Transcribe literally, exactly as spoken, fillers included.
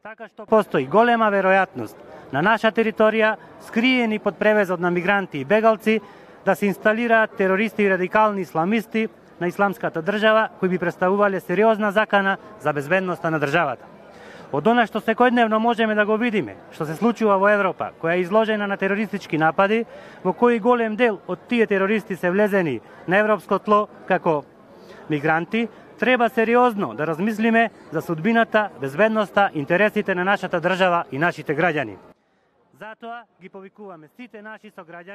Така што постои голема веројатност на наша територија, скриени под превезот на мигранти и бегалци, да се инсталираат терористи и радикални исламисти на исламската држава, кои би представувале сериозна закана за безбедноста на државата. Од она што секојдневно можеме да го видиме, што се случува во Европа, која е изложена на терористички напади, во кои голем дел од тие терористи се влезени на европско тло како мигранти, треба сериозно да размислиме за судбината, безбедноста, интересите на нашата држава и нашите граѓани. Затоа ги повикуваме сите наши сограѓани